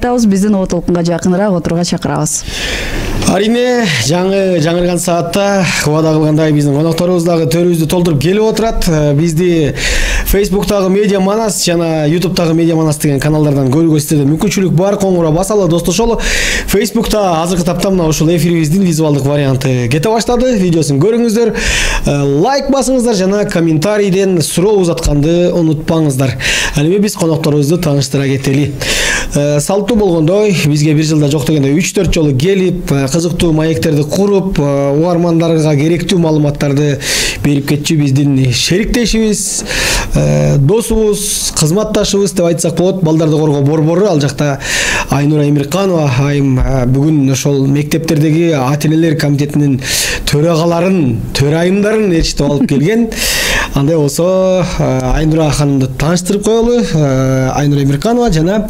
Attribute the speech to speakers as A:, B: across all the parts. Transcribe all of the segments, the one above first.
A: айтабыз, биздин Оо толкунга жакыныраак отурууга чакырабыз.
B: Арине жаңырган саатта убада кылгандай биздин конокторубуз дагы төрүбүздү толтуруп келип отурат. Бизди Facebook'тагы Медиа Манас жана YouTube'тагы Медиа Манас деген каналдардан көрүүгө сиздерде мүмкүнчүлүк бар. Коңура басалы, достошолу. Facebook'та азыркы тапта мына ушул эфирибиздин визуалдык варианты кете баштады. Видеосун көрүңүздөр, лайк басыңыздар жана комментарийден суроо узатканды унутпаңыздар. Ал эми биз конокторубузду тааныштыра кетели. Салттуу болгондой, бизге бир жылда жок дегенде 3-4 жолу келип, кызыктуу маектерди куруп, угармандарга керектүү маалыматтарды берип кетчү биздин шериктешибиз, досубуз, кызматташыбыз деп айтсак болот. Балдарды коргоо борбору, ал жакта Айнура Эмирканова айым бүгүн ошол мектептердеги ата-энелер комитетинин төрайымдарын ээрчитип алып келген. Андай болсо Айнура ханымды тааныштырып коелу. Айнура Эмирканова жана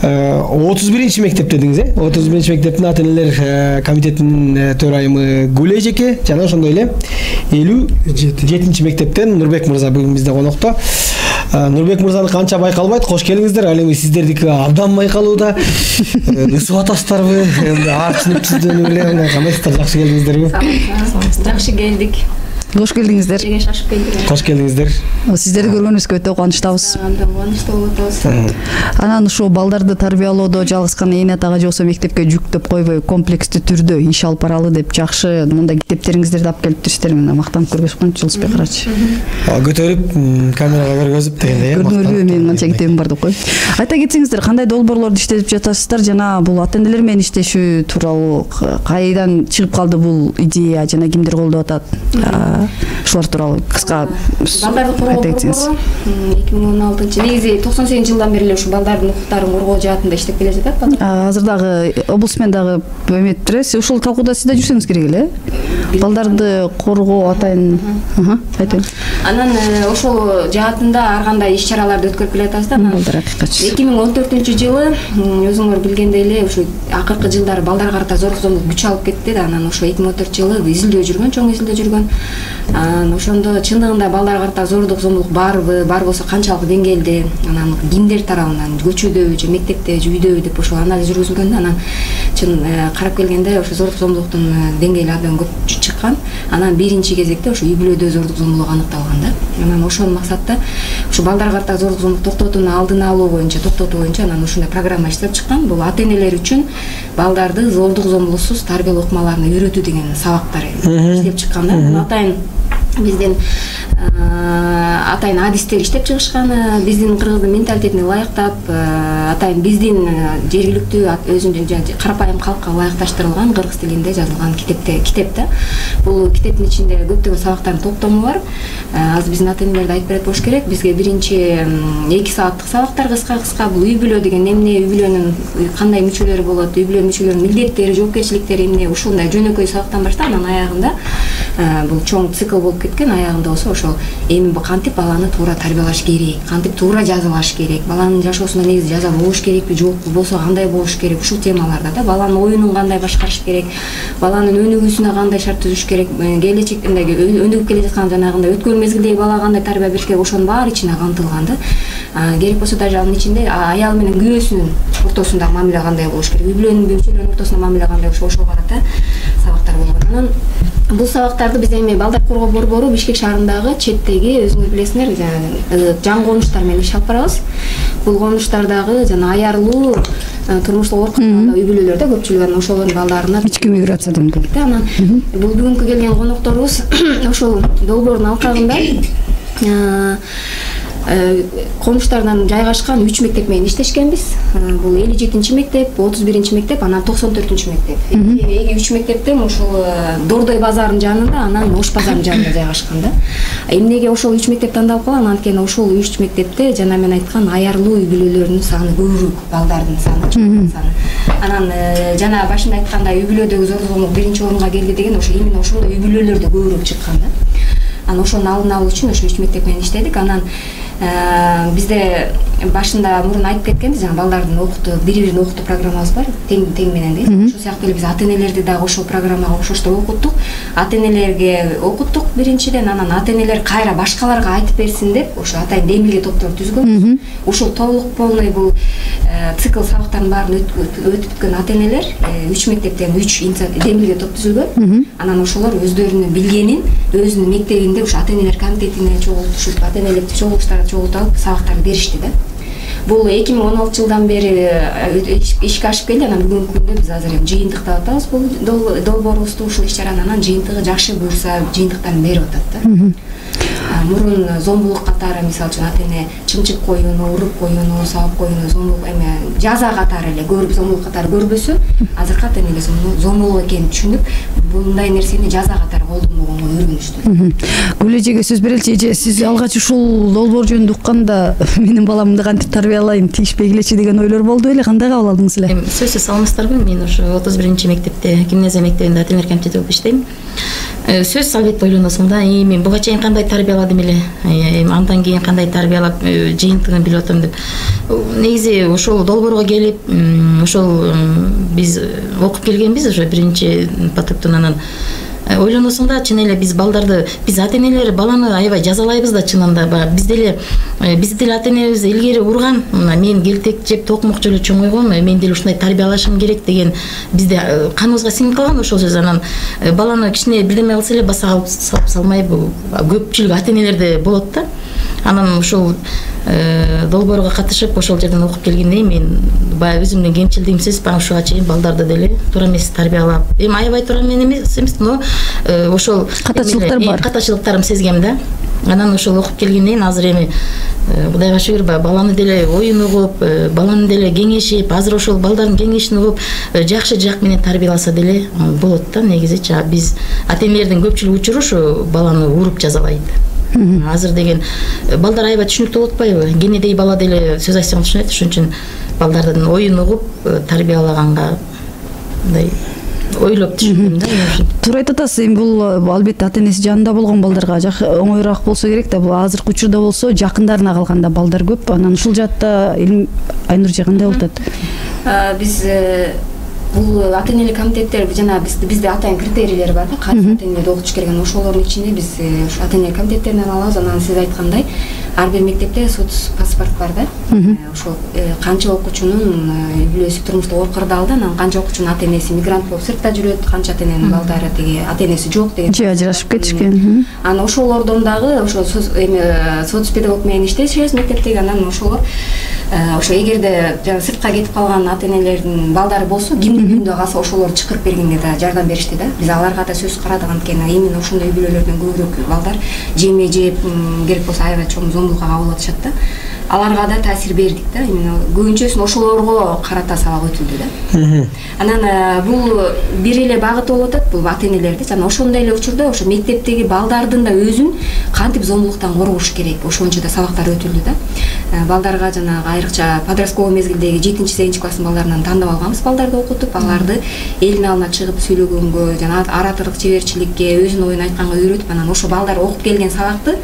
B: 31-чи мектеп дедиңиз, 31-чи мектептин ата-энелер комитетинин төрайымы Гүл эжеке жана ошондой эле 57-чи мектептен Нурбек мырза бүгүн бизде конокто. Нурбек мырзаны канча байкалбайт, кош келиңиздер. Ал эми сиздердики абдан байкалууда. Ысып атасыздарбы? Аарчынып эле кандайсыздар? Жакшы келдиңиздерби?
C: Жакшы келдик.
A: Кош келдиңиздер.
B: Кош келдиңиздер.
A: Сиздерди көргөнүбүзгө өтө кубанычтабыз.
C: Абдан кубанычтуу болуп атабыз.
A: Анан ушул балдарды тарбиялоодо жалгыз гана эне атага же болбосо мектепке жүктөп койбой, комплекстүү түрдө иш алып баралы деп жакшы мындай китептериңиздерди алып келиптирсиздер. Мына мактанып көргөзүп коюңчу Жылысбек карачы.
B: Көтөрүп камерага көргөзүп дегендей.
A: Көрдүңөрбү, менин канча китебим бар деп кой. Айта кетсеңиздер, кандай долбоорлорду иштетип жатасыздар жана бул ата-энелер менен иштешүү тууралуу кайдан чыгып калды бул идея жана кимдер колдоп атат? Ушулар тууралуу кыска
C: балдарды коргоо борбору 2016 негизи 98-жылдан бери эле ушу балдардын укуктарын коргоо жаатында иштеп келе жатат.
A: Азыр дагы облусмен дагы эметтересиз. Ушул талкууда сиз да жүрсөңүз керек эле. Балдарды коргоо атайын. Айтыңыз.
C: Анан ошол жаатында ар кандай иш-чараларды өткөрүп келе жатабыз да.
A: Балдар акыйкатчы.
C: 2014-жылы өзүңөр билгендей эле ушу акыркы жылдары балдарга карата зорлук-зомбулук күч алып кетти да. Анан ошо 2014-жылы изилдөө жүргөн, чоң изилдөө жүргөн. Ошондо чындыгында балдарга карата зорлук-зомбулук барбы, бар болсо канчалык деңгээлде, анан кимдер тарабынан, көчөдөбү же мектепте же үйдөбү деп ошо анализ жүргүзүлгөн да. Анан чын карап келгенде ошо зорлук-зомбулуктун деңгээли абдан көп чыккан. Анан биринчи кезекте ошо үй бүлөдө зорлук-зомбулук аныкталган да. Анан ошол максатта ушу балдарга карата зорлук-зомбулук токтотууну алдын алуу боюнча, токтотуу боюнча анан ушундай программа иштеп чыккан. Бул ата-энелер үчүн балдарды зорлук-зомбулуксуз тарбиялоо ыкмаларына үйрөтүү деген сабактар иштеп чыккан да. Атайын биздин атайын адистер иштеп чыгышкан, биздин кыргыздын менталитетине ылайыктап, атайын биздин жергиликтүү өзүнүн карапайым калкка ылайыкташтырылган кыргыз тилинде жазылган китеп да. Бул китептин ичинде көптөгөн сабактардын топтому бар. Азыр биздин ата-энелерди айтып берет болуш керек. Бизге биринчи 2 сааттык сабактар кыска бул үй бүлө деген эмне, үй бүлөнүн кандай мүчөлөрү болот, үй бүлө мүчөлөрүнүн милдеттери, жоопкерчиликтери эмне, ушундай жөнөкөй сабактан баштап анан аягында бул чоң цикл болуп кеткен. Аягында болсо ошол эми кантип баланы туура тарбиялаш керек, кантип туура жазалаш керек, баланын жашоосунда негизи жаза болуш керекпи, жокпу, болсо кандай болуш керек, ушул темаларда да. Баланын оюнун кандай башкарыш керек, баланын өнүгүүсүнө кандай шарт түзүш керек, келечектеги өнүгүп келе жаткан жанагындай өткөн мезгилдеги балага кандай тарбия бериш керек, ошонун баары ичине камтылган да. Керек болсо даже анын ичинде аял менен күйөөсүнүн ортосунда мамиле кандай болуш керек, үй бүлөнүн мүчөлөрүнүн ортосунда мамиле кандай болуш, ошого карата сабактар болгон. Анан бул сабактарды биз эми балдар коргоо борбору Бишкек шаарындагы четтеги өзүңөр билесиңер, жаңы конуштар менен иш алып барабыз. Бул конуштардагы жана аярлуу турмуштук оор калган үй бүлөлөрдө көпчүлүгү ошолордун балдарына
A: ички миграция дейм.
C: Анан бул бүгүнкү келген конокторубуз ошол долбоордун алкагында конуштардан жайгашкан 3 мектеп менен иштешкенбиз. Бул 57-чи мектеп, 31-чи мектеп, анан 94-чү мектеп. Эги 3 мектептен ушул Дордой базарынын жанында, анан Ош базарынын жанында жайгашкан да. Эмнеге ошол 3 мектеп тандалып калган? Анткени ошол 3 мектепте жана мен айткан аярлуу үй бүлөлөрүнүн саны көбүрөөк, балдардын саны. Анан жана башында айткандай үй бүлөдөгү зорлук-зомбулук биринчи орунга келди деген ошо именно ошондой үй бүлөлөрдө көбүрөөк чыккан да. Анан ошону алдын алуу үчүн ошо 3 мектеп менен иштедик. Анан Бизде башында мурун айтып кеткенбиз, жана балдардын окутуу, бири-бирин окутуу программабыз бар, тең менен дейбиз. Ошол сыяктуу эле биз ата-энелерди дагы ошол программага окшоштуу окуттук. Ата-энелерге окуттук биринчиден, анан ата-энелер кайра башкаларга айтып берсин деп ошо атайын демилге топтор түзгөнбүз. Ушул толук полный бул цикл сабактардын баарын өтүп бүткөн ата-энелер 3 мектептен 3 демилге топ түзүлгөн. Анан ошолор өздөрүнүн билгенин өзүнүн мектебинде ушу ата-энелер комитетине чогултушуп, ата-энелик чогулуштарга чогултуп алып сабактарды беришти да. Бул 2016 жылдан бери ишке ашып келди. Анан бүгүнкү күндө биз азыр эми жыйынтыктап атабыз бул долбоорубузду, ушул иш-чараны. Анан жыйынтыгы жакшы буюрса жыйынтыктарын берип атат да. Мурун зомбулук катары, мисалы үчүн ата-эне чымчык коюуну, уруп коюуну, сабап коюуну зомбулук эме жаза катары эле көрүп, зомбулук катары көрбөсө, азыркы ата-энелер зомбулук экенин түшүнүп, мындай нерсени жаза катары колдонбогонго үйрөнүштү.
A: Гүл эжеге сөз береличи. Эже, сиз алгач ушул долбоор жөнүндө укканда менин баламды кантип тарбиялайм, тийишпей келечи деген ойлор болду беле? Кандай кабыл алдыңыз эле?
D: Сөзсүз саламатсыздарбы? Мен ошо 31-мектепте, гимназия мектебинде ата-энелер комитети болуп иштейм. Сөзсүз албетте ойлоносуң да, мен буга чейин кандай тарбияладым эле, андан кийин кандай тарбиялап жыйынтыгын билип атам деп. Негизи ошол долбоорго келип, ошол биз окуп келгенбиз ошо биринчи потоктон. Анан ойлоносуң да, чын эле биз балдарды, биз ата-энелер баланы аябай жазалайбыз да чынында. Бизде эле ата-энебиз илгери урган, мен келтек жеп токмок жолу чоңойгом, мен деле ушундай тарбиялашым керек деген бизде каныбызга сиңип калган ошол сөз. Анан баланы кичине бирдеме кылса эле баса алып салмай, бул көпчүлүк ата-энелерде болот да. Анан ушул долбоорго катышып ошол жерден окуп келгенден кийин мен баягы өзүмдүн кемчилдигимсиз ушуга чейин балдарды деле туура эмес тарбиялап, эми аябай туура эмес, но ошол
A: катачылыктар бар.
D: Катачылыктарым сезгем да. Анан ошол окуп келгенден кийин азыр эми Кудайга шүгүр, баланы деле оюн угуп, баланы деле кеңешип, азыр ошол балдардын кеңешин угуп, жакшы жак менен тарбияласа деле болот да. Негизичи биз ата-энелердин көпчүлүк учуру ушу баланы уруп жазалайт. Азыр деген балдар аябай түшүнүктүү болуп атпайбы? Кенедей бала деле сөз айтсаң түшүнөт, ошон үчүн балдардын оюн угуп тарбиялаганга мындай ойлоп түшүндүм да.
A: Туура айтып атасыз. Эми бул албетте ата-энеси жанында болгон балдарга оңоюраак болсо керек да. Бул азыркы учурда болсо жакындарына калганда балдар көп. Анан ушул жаатта Айнур эже кандай болуп атат?
C: Биз бул ата-энелик комитеттер жана бизде атайын критерийлер бар да, кайсы ата-энеде окутуш керек. Ошолордун ичинде биз ата-энелик комитеттеринен алабыз. Анан сиз айткандай ар бир мектепте соц паспорт бар да. Ошол канча окуучунун үй бүлөсү турмуштук оор кырдаалда, анан канча окуучунун ата-энеси мигрант болуп сыртта жүрөт, канча ата-эненин балдары тиги ата-энеси жок деген.
A: Же ажырашып кетишкен.
C: Анан ошолордон дагы ошо соц педагог менен иштешебиз мектептеги. Анан ошолор ошо эгерде жана сыртка кетип калган ата-энелердин балдары болсо, кимдин үйүндө калса ошолорду чакырып бергенге да жардам беришти да. Биз аларга да сөз карадык, анткени именно ошондой үй бүлөлөрдөн көбүрөөк балдар жеме жеп, керек болсо аябай чоң зомбулукка кабыл атышат да. Аларга да таасир бердик да. Именно көбүнчөсүн ошолорго карата сабак өтүлдү да. Анан бул бир эле багыт болуп атат, бул ата-энелерди. Жана ошондой эле учурда ошо мектептеги балдардын да өзүн кантип зомбулуктан коргош керек, ошончо да сабактар өтүлдү да. Балдарга жанагы айрыкча подростковый мезгилдеги 7-8 класстын балдарынан тандап алганбыз балдарды окутуп, аларды элдин алдына чыгып сүйлөгөнгө, жана ораторлук чеберчиликке, өзүнүн оюн айтканга үйрөтүп, анан ошо балдар окуп келген сабакты,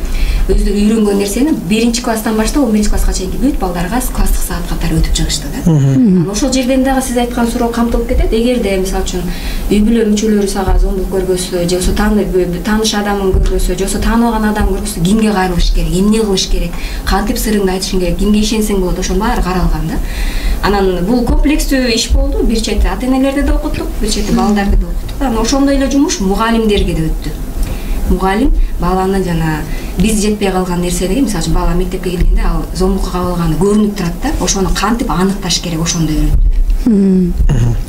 C: өздөрү үйрөнгөн нерсени 1-класстан баштап 11-класска чейинки бүт балдарга класстык саат катары өтүп чыгышты да. Анан ошол жерден дагы сиз айткан суроо камтылып кетет. Эгерде мисалы үчүн үй бүлө мүчөлөрү сага зомбулук көргөзсө, же болбосо тааныш адамын көргөзсө, же болбосо тааныбаган адам көргөзсө, кимге кайрылыш керек, эмне кылыш керек, кантип сырыңды айтышың керек, кимге ишенсең болот, ошонун баары каралган да. Анан бул комплекстүү иш болду. Бир чети ата-энелерди да окуттук, бир чети балдарды да окуттук. Анан ошондой эле жумуш мугалимдерге да өттү. Мугалим баланы жана биз жетпей калган нерсени, мисалы үчүн бала мектепке келгенде ал зомбулукка кабылганы көрүнүп турат да, ошону кантип аныкташ керек, ошондой үйрөттү.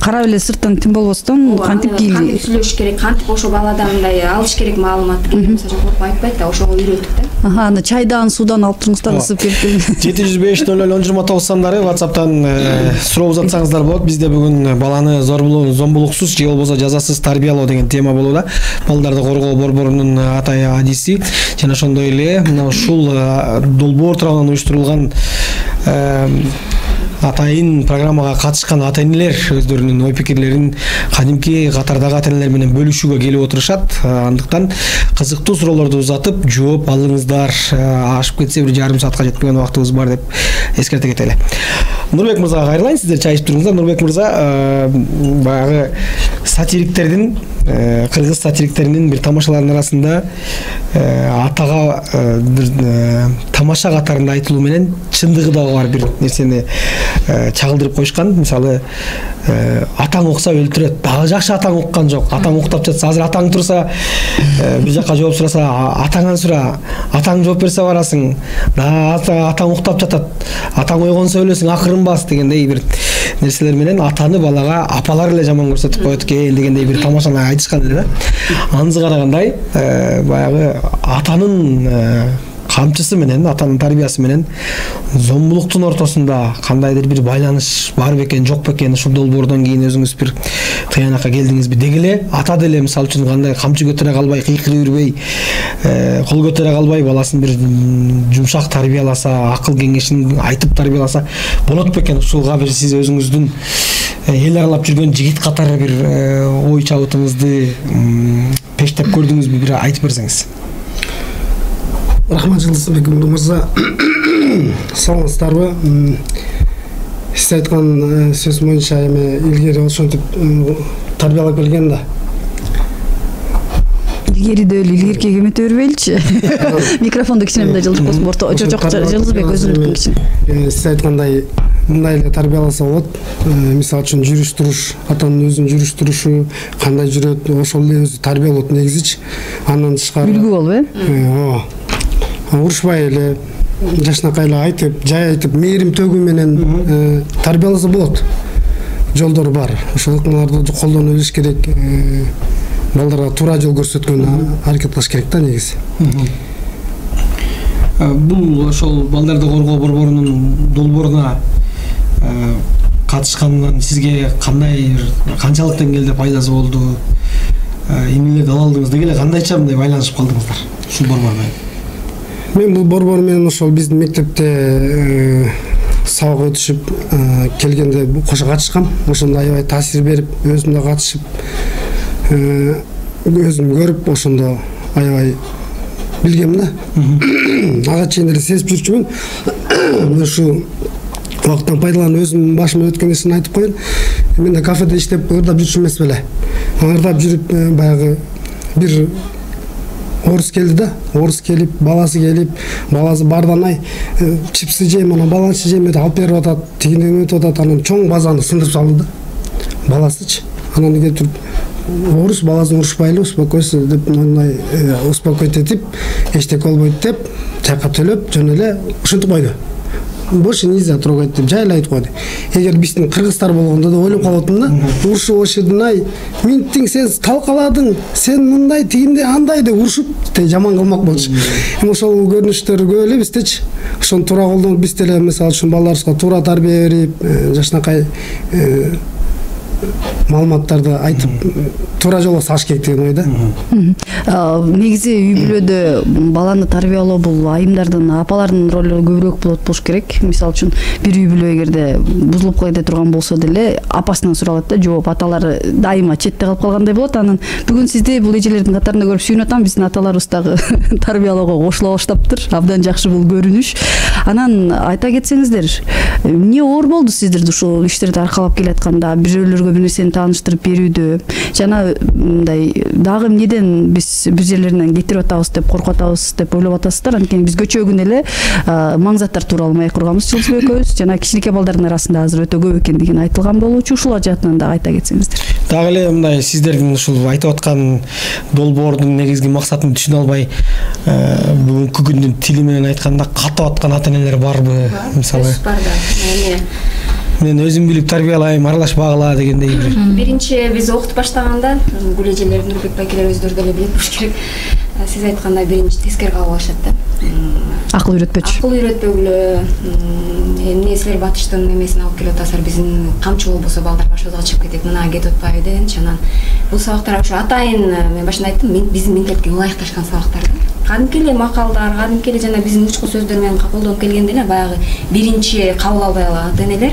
A: Карап эле сырттан тим болбостон кантип
C: кантип сүйлөшүш керек, кантип ошо баладан мындай алыш керек маалыматты, мисалы үчүн коркуп айтпайт да, ошого үйрөттүк да.
A: Аны чайдан, суудан алып туруңуздар, ысып кетти.
B: 705-00-1029 сандары WhatsApp'тан суроо узатсаңыздар болот. Бизде бүгүн баланы зомбулуксуз же болбосо жазасыз тарбиялоо деген тема болууда. Балдарды коргоо борборунун атай адиси жана ошондой эле мына ушул долбоор тарабынан уюштурулган атайын программага катышкан ата энелер өздөрүнүн ой пикирлерин кадимки катардагы ата энелер менен бөлүшүүгө келип отурушат. Андыктан кызыктуу суроолорду узатып жооп алыңыздар. Ашып кетсе бир жарым саатка жетпеген убактыбыз бар деп эскерте кетели. Нурбек мырзага кайрылайын, сиздер чай ичип туруңуздар. Нурбек мырза баягы сатириктердин, кыргыз сатириктеринин бир тамашаларынын арасында атага бир тамаша катарында айтылуу менен чындыгы дагы бар бир нерсени чагылдырып коюшкан. Мисалы, атаң укса өлтүрөт. Дагы жакшы атаң уккан жок. Атаң уктап жатса, азыр атаң турса, бир жака жооп сураса, атаңан сура. Атаң жооп берсе барасың. Атаң уктап жатат. Атаң ойгонсо өлөсүң, акырын бас дегендей бир нерселер менен атаны балага апалар эле жаман көрсөтүп коет экен дегендей бир тамашаны айтышкан эле да. Анысы карагандай, баягы атанын камчысы менен, атанын тарбиясы менен зомбулуктун ортосунда кандайдыр бир байланыш бар бекен, жок бекен, ушул долбоордон кийин өзүңүз бир тыянакка келдиңизби? Деги эле ата деле мисалы үчүн кандай камчы көтөрө калбай, кыйкырып жүрбөй, кол көтөрө калбай баласын бир жумшак тарбияласа, акыл кеңешин айтып тарбияласа болот бекен? Ушуга бир сиз өзүңүздүн эл аралап жүргөн жигит катары бир ой чабытыңызды пештеп көрдүңүзбү? Бир айтып берсеңиз.
E: Рахмат Жылысбек мырза, саламатсыздарбы? Сиз айткан сөз боюнча эми илгери ошентип тарбиялап келген да.
A: Илгериде эле илгерке кемете бербейличи. Микрофонду кичине мындай жылжып койсун. Жок, Жылысбек өзүңдүкүн кичине.
E: Сиз айткандай мындай эле тарбияласа болот. Мисалы үчүн жүрүш туруш, атанын өзүнүн жүрүш турушу кандай жүрөт, ошол эле өзү тарбия болот негизичи. Андан тышкары
A: үлгү болуп,
E: ооба. Урушпай эле, жашнакай эле айтып, жай айтып, мээрим төгүү менен тарбияласа болот. Жолдор бар. Ошолорду колдоно билиш керек. Балдарга туура жол көрсөткөн аракет кылыш керек да негизи.
B: Бул ошол балдарды коргоо борборунун долбооруна катышкандан сизге кандай, канчалык деңгээлде пайдасы болду? Эмнелерди ала алдыңыз? Деги эле кандайча мындай байланышып калдыңыздар ушул борбор менен?
E: Мен бул борбор менен ошол биздин мектепте сабак өтүшүп келгенде кошо катышкам. Ошондо аябай таасир берип, өзүм да катышып, өзүм көрүп, ошондо аябай билгем да. Ага чейин эле сезип жүрчүмүн. Ушу убакыттан пайдаланып өзүм башыма өткөн нерсени айтып коеюн. Мен да кафеде иштеп ырдап жүрчү эмес беле. Ырдап жүрүп баягы бир орус келди да. Орус келип, баласы бардан чипсы жейм, анан баланчы жейм деп алып берип атат, тигинден өтүп атат, анан чоң базаны сындырып салды да. Баласычы. Анан келип орус баласын урушпайлы, успокойся деп мындай успокоить этип, эчтеке болбойт деп, чайка төлөп, жөн эле ушинтип койду. Больше нельзя трогать деп жай эле айтып койду. Эгер биздин кыргыздар болгондо да ойлоп калатым да, урушуп ошедин минтиң сен талкаладың, сен мындай тигинде андай деп урушуп жаман кылмак болчу. Ошол көрүнүштөр көп эле биздечи. Ошону туура колдонуп биз деле мисалы үчүн балдарыбызга туура тарбия берип, жашнакай маалыматтарды айтып туура жолго салыш керек деген ойда.
A: Негизи үй бүлөдө баланы тарбиялоо бул айымдардын, апалардын ролу көбүрөөк болуш керек. Мисалы үчүн бир үй бүлө эгерде бузулуп кете турган болсо деле апасынан суралат да, жооп аталары дайыма четте калып калгандай болот. Анан бүгүн сизди бул эжелердин катарында көрүп сүйүнүп атам. Биздин аталарыбыз дагы тарбиялоого кошула баштаптыр. Абдан жакшы бул көрүнүш. Анан айта кетсеңиздер, эмне оор болду сиздерди ушул иштерди аркалап келатканда, бирөөлөргө бир нерсени тааныштырып берүүдө, жана мындай дагы эмнеден биз бир жерлеринен кетирип атабыз деп коркуп атабыз деп ойлоп атасыздар? Анткени биз көчө күн эле маңзаттар тууралуу маек курганбыз Жылысбек экөөбүз, жана кичинекей балдардын арасында азыр өтө көп экендигин айтылган болчу. Ушулар жаатынан дагы айта кетсеңиздер.
B: Дагы эле мындай сиздердин ушул айтып аткан долбоордун негизги максатын түшүнө албай, бүгүнкү күндүн тили менен айтканда катып аткан ата энелер барбы? Мисалы, мен өзүм билип тарбиялайм, аралашпагыла дегендей бир.
C: Биринчи биз окутуп баштаганда бул эжелер, Нурбек байкелер өздөрү деле билет болуш керек. Сиз айткандай биринчи тескери кабыл алышат да.
A: Акыл үйрөтпөчү.
C: Акыл үйрөтпөгүлө, эмне силер батыштын эмесин алып келип атасыздар, биздин камчы болбосо балдар башыбызга чыгып кетет, мына кетип атпайбы дегенчи. Анан бул сабактар ошо атайын, мен башында айттым, биздин менталитетке ылайыкташкан сабактар да. кадимки эле макалдар, кадимки эле жана биздин учку сөздөр менен колдонуп келгенде эле баягы биринчи кабыл албай калган ата-энелер,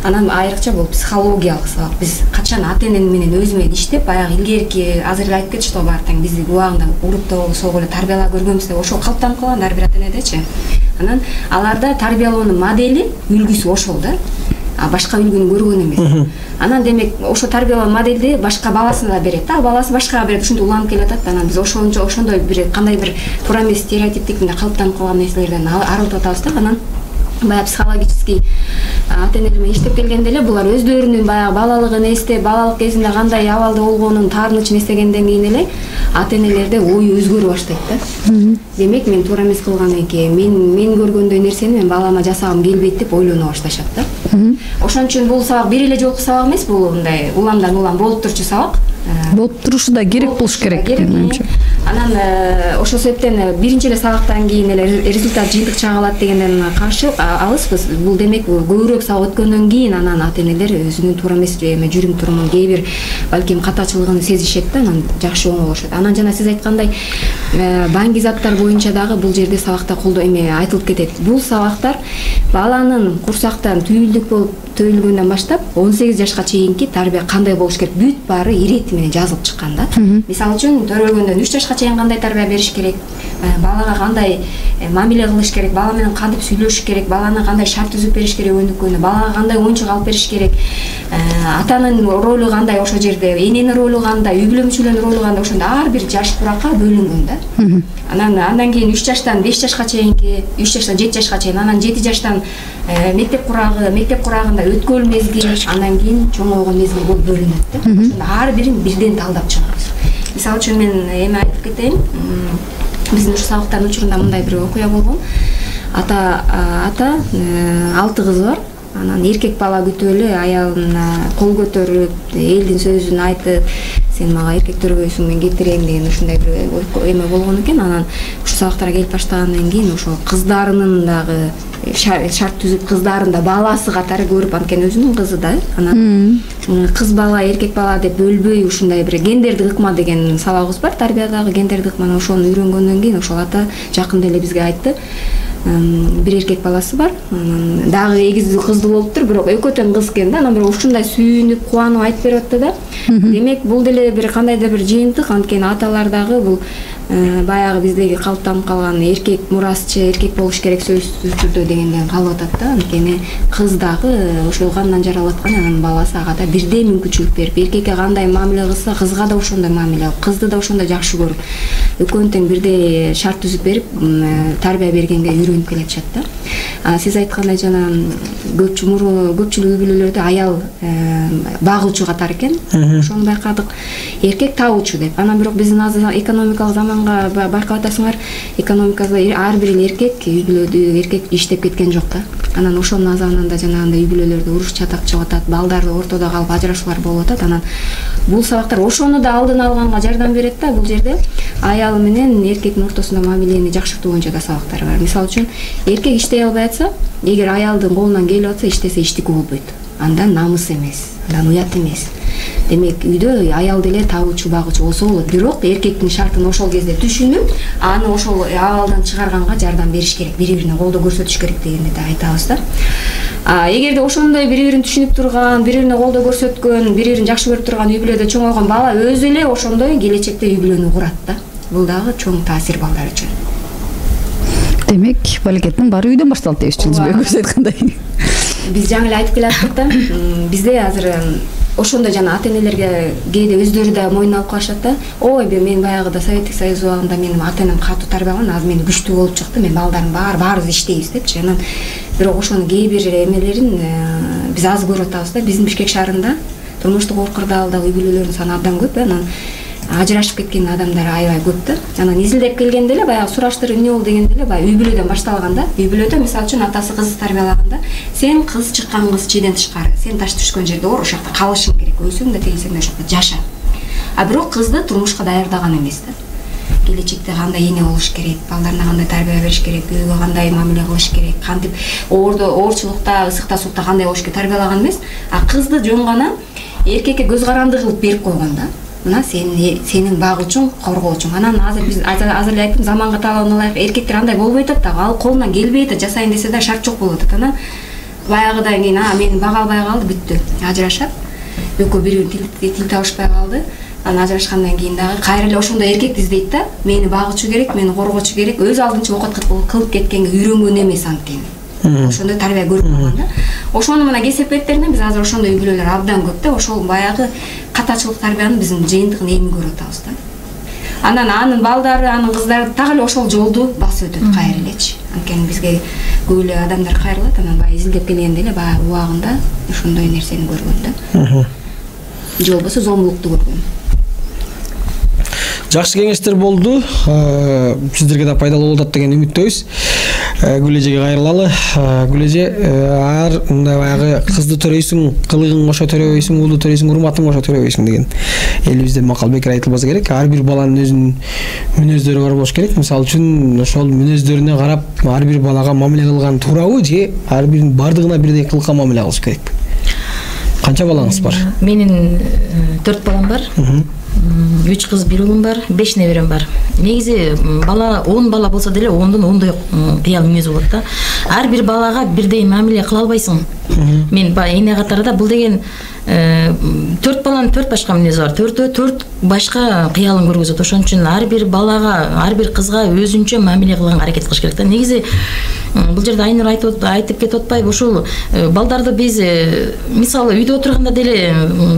C: анан айрыкча бул психологиялык сабак. Биз качан ата-эне менен өзү менен иштеп, баягы илгерки азыр эле айтып кетишти баары тең бизди убагында уруп да согуп эле тарбиялап көргөнбүз деп, ошол калыптанып калган ар бир ата-энедечи. Анан аларда тарбиялоонун модели, үлгүсү ошол да. Башка үлгүнү көргөн эмес. Анан демек ошо тарбиялоо модельди башка баласына да берет. Баласы башкага берет, ушинтип уланып келатат. Анан биз ошондой бир кандай бир туура эмес стереотиптик мындай калыптанып калган нерселерден арылтып атабыз да. Анан баягы психологический ата-энелер менен иштеп келгенде эле булар өздөрүнүн баягы балалыгын эстеп, балалык кезинде кандай абалда болгонун таарынычын эстегенден кийин эле ата-энелерде ою өзгөрө баштайт да. Демек мен туура эмес кылган экен, мен көргөндөй нерсени мен балама жасагым келбейт деп ойлоно башташат да. Ошон үчүн бул сабак бир эле жолку сабак эмес, бул мындай уламдан улам болуп турчу сабак.
A: Болуп турушу да керек болуш керек.
C: Анан ошол себептен биринчи эле сабактан кийин эле результат жыйынтык чыга калат дегенден каршы алыспыз. Бул демек көбүрөөк сабак өткөндөн кийин анан ата-энелер өзүнүн туура эмес жүрүм турумун кээ бир балким катачылыгын сезишет да, анан жакшы оңолошот. Анан жана сиз айткандай баңги заттар боюнча дагы бул жерде сабакта айтылып кетет. Бул сабактар баланын курсактан түйүлдүк болуп төйлгөндөн баштап 18 жашка чейинки тарбия кандай болуш керек, бүт баары ирети менен жазылып чыккан да. Мисалы үчүн төрөлгөндөн 3 жашка чейин кандай тарбия бериш керек, балага кандай мамиле кылыш керек, бала менен кантип сүйлөшүш керек, баланы кандай шарт түзүп бериш керек өнүккөндө, балага кандай оюнчук алып бериш керек, атанын ролу кандай ошол жерде, эненин ролу кандай, үй бүлө мүчөлөрүнүн ролу кандай, ошондо ар бир жаш куракка бөлүнгөн да. Андан кийин 3 жаштан 5 жашка чейинки, 3 жаштан 7 жашка чейин, анан 7 жаштан мектеп курагында өткөл мезгил, андан кийин чоңойгон мезгил болуп бөлүнөт да. Ошондо ар бирин бирден талдап чыгабыз. Мисалы үчүн мен эми айтып кетейин, биздин ушу сабактардын учурунда мындай бир окуя болгон. Ата 6 кызы бар. Анан эркек бала күтүп эле аялына кол көтөрүп, элдин сөзүн айтып, сен мага эркек төрөбөйсүң, мен кетирейин деген ушундай бир эме болгон экен. Анан ушу сабактарга келип баштагандан кийин ошо кыздарынын дагы шарт түзүп, кыздарын да баласы катары көрүп, анткени өзүнүн кызы да. Анан кыз бала, эркек бала деп бөлбөй ушундай бир гендердик ыкма деген сабагыбыз бар, тарбиядагы гендердик ыкманы. Ошону үйрөнгөндөн кийин ошол ата жакында эле бизге айтты. Бир эркек баласы бар, анан дагы эгиздүү кыздуу болуптур, бирок экөө тең кыз экен да. Анан бирок ушундай сүйүнүп, кубанып айтып берип атты да. Демек бул деле бир кандайдыр бир жыйынтык, анткени аталар дагы бул баягы биздеги калыптанып калган эркек мурасчы, эркек болуш керек сөзсүз түрдө дегенден калып атат да. Анткени кыз дагы ошол кандан жаралып аткан, анан баласы ага да бирдей мүмкүнчүлүк берип, эркекке кандай мамиле кылса, кызга да ошондой мамиле кылып, кызды да ошондой жакшы көрүп, экөөнү тең бирдей шарт түзүп берип, тарбия бергенге үйрөнүп келатышат да. Сиз айткандай жана көпчүлүк үй бүлөлөрдө аял багуучу катары экен. Ошону байкадык. Эркек табуучу деп. Анан бирок биздин азыр экономикалык заманга байкап атасыңар, экономикада ар бир эркек үй бүлөдө эркек иштеп кеткен жок да. Анан ошонун азабынан жанагындай үй бүлөлөрдө уруш чатак чыгып атат, балдар ортодо калып ажырашуулар болуп атат. Анан бул сабактар ошону да алдын алганга жардам берет да. Бул жерде аял менен эркектин ортосунда мамилени жакшыртуу боюнча да сабактар бар. Мисалы үчүн эркек иштей албай атса, эгер аялдын колунан келип атса, иштесе иштики болбойт. Андан намыс эмес, андан уят эмес. Демек үйдө аял деле табуучу, багуучу болсо болот. Бирок эркектин шартын ошол кезде түшүнүп, аны ошол абалдан чыгарганга жардам бериш керек, бири-бирине колдоо көрсөтүш керек дегенди да айтабыз да. Эгерде ошондой бири-бирин түшүнүп турган, бири-бирине колдоо көрсөткөн, бири-бирин жакшы көрүп турган үй бүлөдө чоңойгон бала өзү эле ошондой келечекте үй бүлөнү курат да. Бул дагы чоң таасир балдар үчүн.
A: Демек, балекеттин баары үйдөн башталат дейсизби, өзү айткандай.
C: Биз жаңы эле айтып келаттык, бизде азыр ошондой жана ата-энелерге кээде өздөрү да мойнуна алып калышат да. Ой, мен баягыда Советтик Союз убагында менин ата-энем катуу тарбиялаган, азыр мен күчтүү болуп чыкты, мен балдардын баарыбыз иштейбиз депчи. Анан бирок ошонун кээ бир эмелерин биз аз көрүп атабыз да. Биздин Бишкек шаарында турмуштук оор кырдаалдагы үй бүлөлөрдүн саны абдан көп, анан ажырашып кеткен адамдар аябай көп да. Анан изилдеп келгенде эле баягы сураштырып эмне болду дегенде эле баягы үй бүлөдөн башталган да. Үй бүлөдө мисалы үчүн атасы кызды тарбиялаганда, сен кыз чыккан кыз чийден тышкары, сен таш түшкөн жерде ор, ошол жакта калышың керек, өлсөң да тегинсең да ошол жакта жаша. Бирок кызды турмушка даярдаган эмес да. Келечекте кандай эне болуш керек, балдарына кандай тарбия бериш керек, күйөөгө кандай мамиле кылыш керек, кантип оорчулукта, ысыкта, суукта кандай болуш керек тарбиялаган эмес. Кызды жөн гана эркекке көз каранды кылып берип койгон да. мына сенин багуучуң, коргоочуң. Анан азыр эле айттым, заманга талабына ылайык эркектер андай болбой атат да, ал колунан келбей атат, жасайын десе да шарт жок болуп атат. Анан баягыдан кийин мени бага албай калды, бүттү. Ажырашат. Экөө бири-бири тил табышпай калды. Анан ажырашкандан кийин дагы кайра эле ошондой эркекти издейт да. Мени багуучу керек, мени коргоочу керек. Өз алдынча окат кылып кеткенге үйрөнгөн эмес анткени. Ошондой тарбия көрүп калган да. Ошону мына кесепеттеринен биз азыр ошондой үй бүлөлөр абдан көп да. Ошол баягы катачылык тарбиянын биздин жыйынтыгын эми көрүп атабыз да. Анан анын балдары, анын кыздары так эле ошол жолду басып өтөт кайра элечи. Анткени бизге көп эле адамдар кайрылат, анан баягы изилдеп келгенде эле баягы убагында ошондой нерсени көргөн да. Же болбосо зомбулукту көргөн.
B: Жакшы кеңештер болду. Сиздерге да пайдалуу болот деген үмүттөбүз. Гүл эжеге кайрылалы. Гүл эже, мындай баягы кызды төрөйсүң, кылыгың кошо төрөбөйсүң, уулду төрөйсүң, урматың кошо төрөбөйсүң деген элибизде макал бекер айтылбаса керек. Ар бир баланын өзүнүн мүнөздөрү бар болуш керек. Мисалы үчүн ошол мүнөздөрүнө карап ар бир балага мамиле кылган туурабы же ар биринин бардыгына бирдей кылыкка мамиле кылыш керекпи? Канча балаңыз бар?
D: Менин 4 балам бар. 3 кыз, 1 уулум бар, 5 неберем бар. Негизи бала 10 бала болсо деле 10дон 10дой кыял мүнөзү болот да. Ар бир балага бирдей мамиле кыла албайсың. Мен эне катарда бул деген 4 баланын 4 башка мүнөзү бар. 4 башка кыялын көргөзөт. Ошон үчүн ар бир балага, ар бир кызга өзүнчө мамиле кылганга аракет кылыш керек да. Негизи бул жерде Айнур айтып кетип атпайбы, ушул балдарды биз мисалы үйдө отурганда деле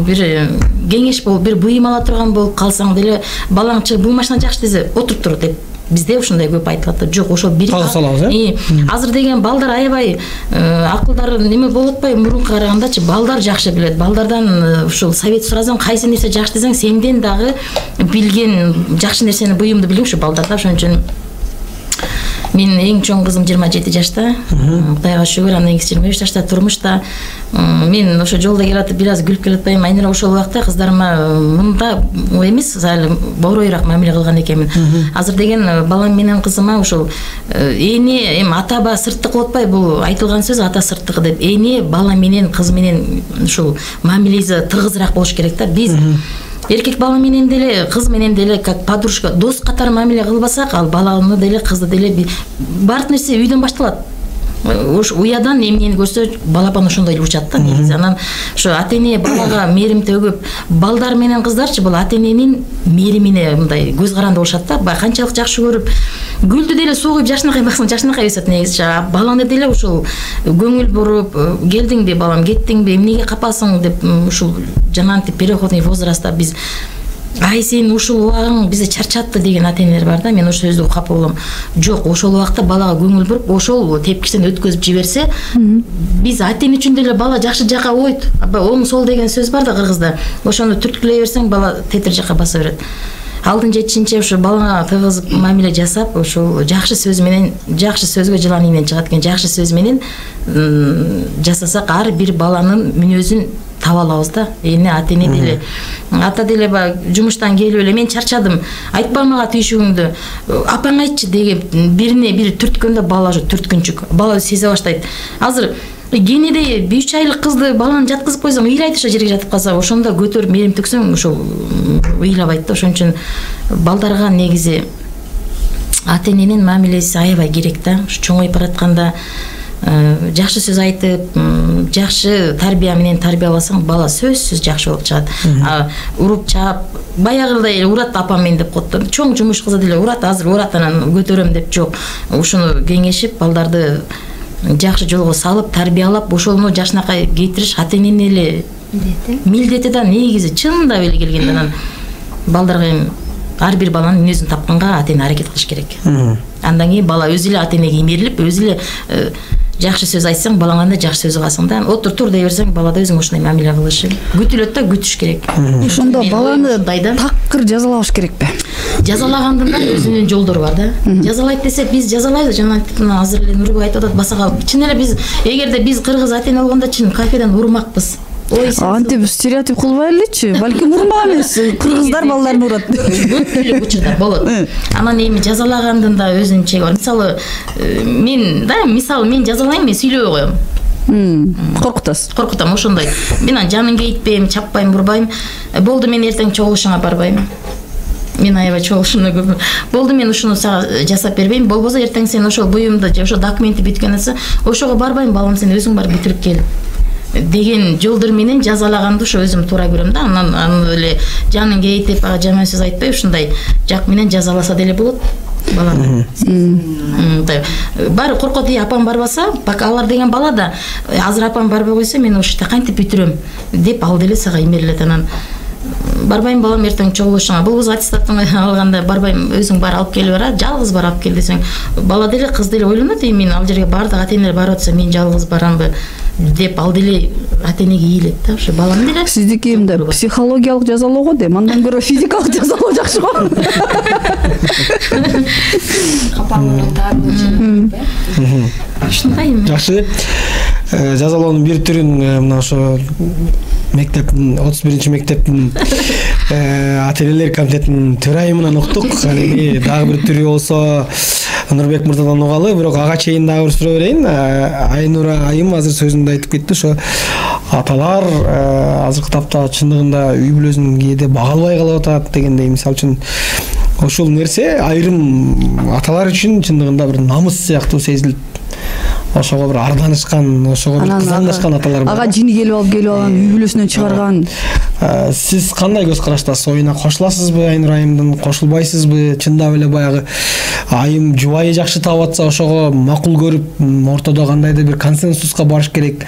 D: бир кеңеш болуп, бир буйум ала турган болуп калсаң деле балаң бул машина жакшы десе отуруп тур деп бизде ошондой көп айтылат да. Жок, ошол бир азыр деген балдар аябай акылдары неме болуп атпайбы, мурунка карагандачы балдар жакшы билет. Балдардан ушул совет суразаң, кайсы нерсе жакшы десең, сенден дагы билген жакшы нерсени, буюмду билген ушу балдарда. Ошон үчүн мен эң чоң кызым 27 жашта, Кудайга шүгүр, андан кийинкиси 25 жашта турмушта. Мен ошо жолдо келатып бир аз күлүп келатпайм. Айнура ошол убакта кыздарыма мында эмес, азыр боройраак мамиле кылган экенмин. Азыр деген балам менен кызыма ошол эне эми ата-ба сырттык болуп атпайбы, бул айтылган сөз ата сырттыгы деп. Эне бала менен кыз менен ушул мамилеси тыгызыраак болуш керек да. Биз эркек бала менен деле, кыз менен деле как подружка, дос катары мамиле кылбасак, ал баланы деле, кызды деле баардык нерсе үйдөн башталат. Ош уядан эмнени көрсө балапан ошондой эле учат да негизи. Анан ошо ата-эне балага мээрим төгүп, балдар менен кыздарчы бул ата-эненин мээримине мындай көз каранды болушат да. Канчалык жакшы көрүп, гүлдү деле суугуп жашынакай баксаң жашынакай өсөт негизи. Баланы деле ушул көңүл буруп, келдиңби балам, кеттиңби, эмнеге капасың деп ушул жанагынтип переходный возрастта биз ай сен ушул убагың бизди чарчатты деген ата-энелер бар да. Мен ошол сөздү капа болом. Жок, ошол убакта балага көңүл буруп, ошол тепкичтен өткөзүп жиберсе, биз ата-эне үчүн деле бала жакшы жака ойт. Оң сол деген сөз бар да кыргызда. Ошону түрткүлөй берсең, бала тетир жака баса берет. Алдын жетишинче ошо балага тыгыз мамиле жасап, ошол жакшы сөз менен, жакшы сөзгө жылан ийинен чыгат экен, жакшы сөз менен жасасак, ар бир баланын мүнөзүн таба алабыз да. Эне ата-эне деле, ата деле жумуштан келип эле мен чарчадым, айтпа мага түйшүгүңдү, апаң айтчы деген бирине бири түрткөндө бала ошо түрткүнчүк, бала сезе баштайт. Азыр кенеде 3 айлык кызды баланы жаткызып койсоң, ыйлайт, ошо жерге жатып калса, ошондо көтөрүп мээрим төксөң, ошол ыйлабайт да. Ошон үчүн балдарга негизи ата-эненин мамилеси аябай керек да. Чоңоюп баратканда жакшы сөз айтып, жакшы тарбия менен тарбияласаң, бала сөзсүз жакшы болуп чыгат. Уруп чаап, баягыдай урат апам мен деп коет. Чоң жумуш кызы деле урат, азыр урат анан көтөрөм деп жок. Ушуну кеңешип, балдарды жакшы жолго салып, тарбиялап, ошону жашынакай кетириш ата-эненин эле милдети да негизи. Чындап эле келгенде анан балдарга ар бир баланын мүнөзүн тапканга ата-эне аракет кылыш керек. Андан кийин бала өзү эле ата-энеге имерилип, өзү эле жакшы сөз айтсаң, балаңан да жакшы сөз кыласың да. Отур тур дей берсең, бала да өзүң ошондой мамиле кылышы. Күтүлөт да, күтүш керек.
A: Ошондо баланы такыр жазалабаш керекпи?
D: Жазалагандын да өзүнүн жолдору бар да. Жазалайт десек, биз жазалайбыз. Жана азыр эле Нурбек айтып атат, басага чын эле биз эгерде биз кыргыз ата-эне болгондо чын кайфеден урмакпыз.
A: Антип стереотип кылбай элечи, балким урмак эмес, кыргыздар балдарын урат.
D: Көп учурда болот. Анан эми жазалагандын да өзүнүн чеги бар. Мисалы, мен жазалайм, мен сүйлөбөй коем.
A: Коркутасыз.
D: Коркутам ошондой. Мен анан жанын кейитпейм, чаппайм, урбайм. Болду, мен эртең чогулушуңа барбайм. Мен аябай чогулушуна көп. Болду, мен ушуну сага жасап бербейм. Болбосо эртең сен ошол буюмду же ошо документти бүткөндөн соң ошого барбайм, балам, сен өзүң барып бүтүрүп кел деген жолдор менен жазалаганды ошо өзүм туура көрөм да. Анан эле жанын кейитип, жаман сөз айтпай ушундай жак менен жазаласа деле болот баланы. Баары коркот, апам барбаса, пока алар деген бала да азыр апам барбай койсо мен ошо кантип бүтүрөм деп ал деле сага эмерлет. Анан барбайм, балам, эртең чогулушуңа. Болбосо аттестатын алганда барбайм, өзүң бар алып келип бара, жалгыз бар алып кел десең, бала деле, кыз деле ойлонот, мен ал жерге бардык ата-энелер барып атса мен жалгыз барамбы деп ал деле ата-энеге ийилет да. Ошо балам деле.
A: Сиздики мындай психологиялык жазалоо го дейм, андан көрө физикалык жазалоо жакшы го.
C: Капаңыздан таарып
D: ушундай эми.
B: Жакшы. Жазалоонун бир түрүн мына ошо мектептин 31 мектептин ата-энелер комитетинин төрайымынан уктук. Эми дагы бир түрү болсо Нурбек мырзадан угалы, бирок ага чейин дагы бир суроо берейин. Айнура айым азыр сөзүндө айтып кетти, ошо аталар азыркы тапта чындыгында үй бүлөсүн кээде бага албай калып атат дегендей. Мисалы үчүн ошол нерсе айрым аталар үчүн чындыгында бир намыс сыяктуу сезилет. Ошого бир арданышкан, ошого бир кызганышкан аталар бар.
A: Ага жини келип алган, үй бүлөсүнөн чыгарган.
B: Сиз кандай көз караштасыз? Оюна кошуласызбы Айнур айымдын, кошулбайсызбы? Чындап эле баягы айым жубайы жакшы таап атса ошого макул көрүп, ортодо кандайдыр бир консенсуска барыш керек,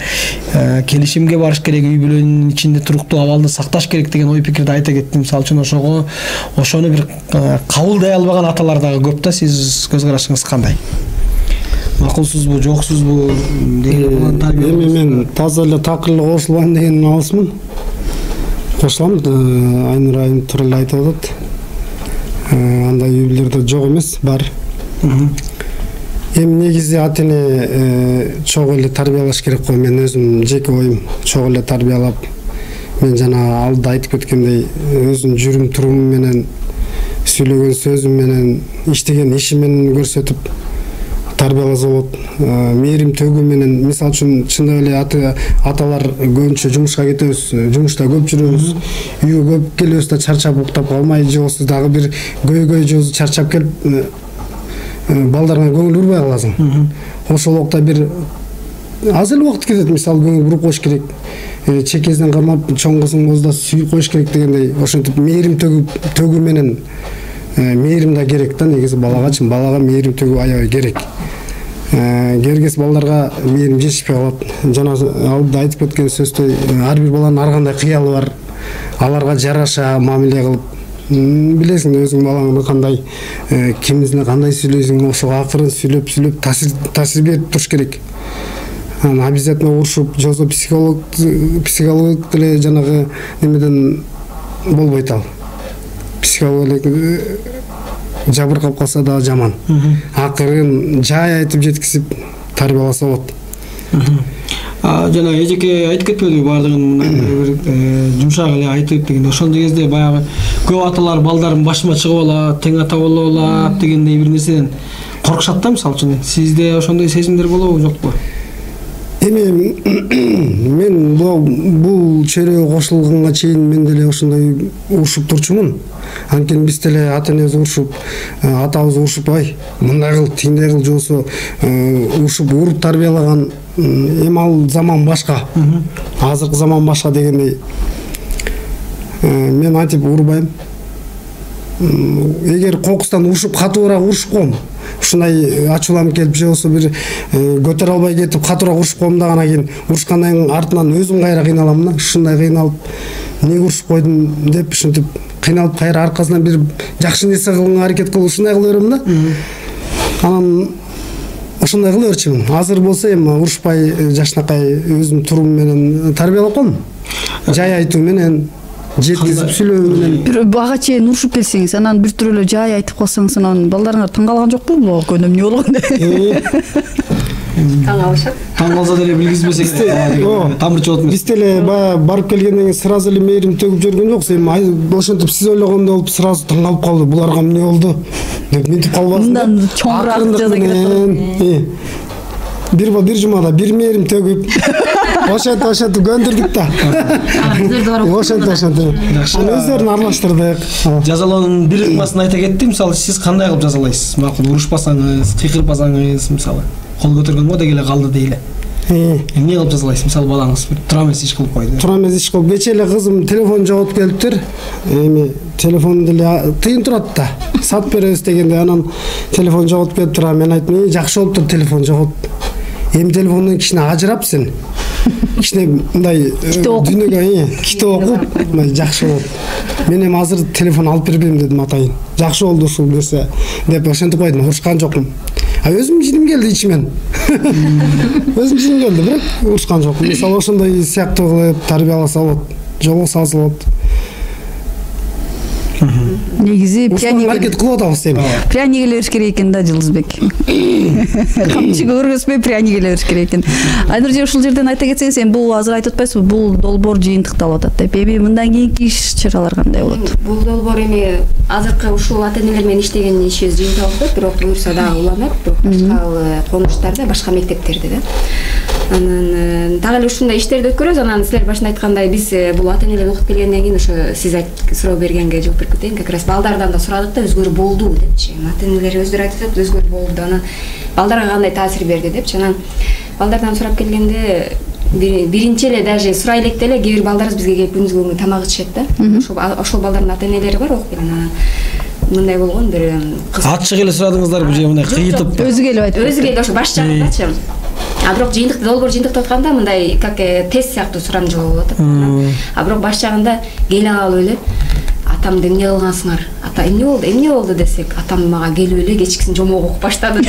B: келишимге барыш керек, үй бүлөнүн ичинде туруктуу абалды сакташ керек деген ой пикирди айта кетти. Мисалы үчүн ошону бир кабылдай албаган аталар дагы көп да. Сиз көз карашыңыз кандай? Макулсузбу, жоксузбу деген тарбия?
E: Эми мен таза эле такырлы кошулбайм дегенден алысмын. Кошулам, Айнур айым туура эле айтып атат. Андай үй бүлөлөрдө жок эмес, бар. Эми негизи ата-эне чогуу эле тарбиялаш керек го. Мен өзүм жеке оюм чогуу эле тарбиялап, мен жана алда айтып кеткендей, өзүм жүрүм турумум менен, сүйлөгөн сөзүм менен, иштеген ишим менен көрсөтүп тарбияласа болот. Мээрим төгүү менен, мисалы үчүн чындап эле аталар көбүнчө жумушка кетебиз, жумушта көп жүрөбүз, үйгө көп келебиз да чарчап уктап калмай, же болбосо дагы бир көйгөй же чарчап келип балдарыңа көңүл бурбай каласың. Ошол убакта бир аз эле убакыт кетет, мисалы көңүл буруп коюш керек. Чекесинен кармап, чоң кызың болсо да сүйүп коюш керек дегендей, ошентип мээрим төгүү менен мээрим да керек да. Негизи балага мээрим төгүү аябай керек. Кергес балдарга мээрим жетишпей калат. Жана алда айтып кеткен сөздөй, ар бир баланын ар кандай кыялы бар. Аларга жараша мамиле кылып, билесиң өзүң балаңды кандай, кимисине кандай сүйлөйсүң, ошого акырын сүйлөп таасир берип туруш керек. Обязательно урушуп, жосо психолог деле жанагы немеден болбойт ал. Психолог жабыркап калса да жаман. Акырын жай айтып жеткизип тарбияласа болот.
B: Жана эжеке айтып кетпедиби баардыгын бир жумшак эле айтып дегенде, ошондой кезде баягы көп аталар балдарын башыма чыгып алат, тең ата боло алат дегендей бир нерседен коркушат да. Мисалы үчүн сизде ошондой сезимдер болобу, жокпу?
E: Эми мен бул чөйрөгө кошулганга чейин мен деле ошондой урушуп турчумун. Анткени биз деле ата-энебиз урушуп, атабыз урушуп, ай, мындай кыл, тиңдей кыл, же болбосо урушуп, уруп тарбиялаган. Эми ал заман башка. Азыркы заман башка дегендей. Мен айтып урбайм. Эгер кокустан урушуп, катуураак урушуп коем, ушундай ачууланып келип, же болбосо бир көтөрө албай кетип катуураак урушуп коем да, анан кийин урушкандан кийин артынан өзүм кайра кыйналам да. Ушундай кыйналып, эмнеге урушуп койдум деп ушинтип кыйналып кайра аркасынан бир жакшы нерсе кылганга аракет кылып ушундай кыла берем да. Анан ошондой кыла берчүмүн. Азыр болсо эми урушпай, жакшынакай өзүм турум менен тарбиялап коем. Жай айтуу менен, жеткизип сүйлөө менен.
A: Бир ага чейин урушуп келсеңиз, анан бир түрлүү жай айтып калсаңыз, анан балдарыңар таң калган жокпу? Бул көйнөм эмне болгон деп.
C: Таң калышат.
B: Таң калса деле билгизбесе керек. Тамырчы болот.
E: Биз деле барып келгенден кийин сразу эле мээрим төгүп жүргөн жокпуз. Эми ошентип сиз ойлогондой болуп сразу таң калып калды. Буларга эмне болду деп мынтип калбасын.
A: Мындан чоңураак жаза керек.
E: бир жумада бир мээрим төгүп ошентип көндүрдүк да. Ошентип. Аны өздөрүн аралаштырдык.
B: Жазалоонун бир ыкмасын айта кетти. Мисалы сиз кандай кылып жазалайсыз? Макул урушпасаңыз, кыйкырбасаңыз, мисалы кол көтөргөнгө деги эле калды дейли. Эмне кылып жазалайсыз? Мисалы балаңыз бир тура эмес иш кылып койду.
E: Тура эмес иш кылып, кечээ эле кызым телефон жоготуп келиптир. Эми телефон деле тыйын турат да. Сатып беребиз дегенде анан телефон жоготуп келиптир. Мен айттым, жакшы болуптур телефон жоготуп. Эми телефондон кичине ажырап сен. Кичине мындай дүйнөгө китеп окуп, мындай жакшы болот. Мен эми азыр телефон алып бербейм дедим атайын. Жакшы болду ушул нерсе деп ошентип койдум, урушкан жокмун. Өзүм жиним келди ичимен. Өзүм жиним келди, бирок урушкан жокмун. Мисалы ошондой сыяктуу кылып тарбияласа болот, жолго болот.
A: Негизи
E: маркет кылып атабыз эми.
A: Пряник эле бериш керек экен да, Жылдызбек. Камчыга көргөзбөй пряник эле бериш керек экен. Айнур, ушул жерден айта кетсең, сен бул азыр айтып атпайсызбы, бул долбоор жыйынтыкталып атат деп. Эми мындан кийинки иш-чаралар кандай болот?
C: Бул долбоор эми азыркы ушул ата-энелер менен иштеген ишибиз жыйынтыкталып, бирок буюрса дагы уланат, башка конуштарда, башка мектептерде да. Анан дагы эле ушундай иштерди өткөрөбүз. Анан силер башында айткандай, биз бул ата-энелер окуп келгенден кийин ошо сиз суроо бергенге жооп берип кетейин. Как раз балдардан да сурадык да, өзгөрүү болду депчи. Ата-энелер өздөрү айтып атат, өзгөрүү болду. Анан балдарга кандай таасир берди депчи. Анан балдардан сурап келгенде биринчи эле даже сурай электе эле кээ бир балдарыбыз бизге келип күндүзгү тамак ичишет да. Ошол балдардын ата-энелери бар окуп келген. Анан мындай болгон бир кыз.
B: Ачык эле сурадыңыздарбы же мындай кыйытып?
A: Өзү келип айтып.
C: Өзү келип ошо баш жагындачы. А бирок жыйынтыкта долбоор жыйынтыктап атканда мындай как тест сыяктуу сурамжылоо болуп атат. А бирок баш жагында келе калып эле атамды эмне кылгансыңар? Ата эмне болду десек, атам мага келип эле кечкисин жомок окуп баштады.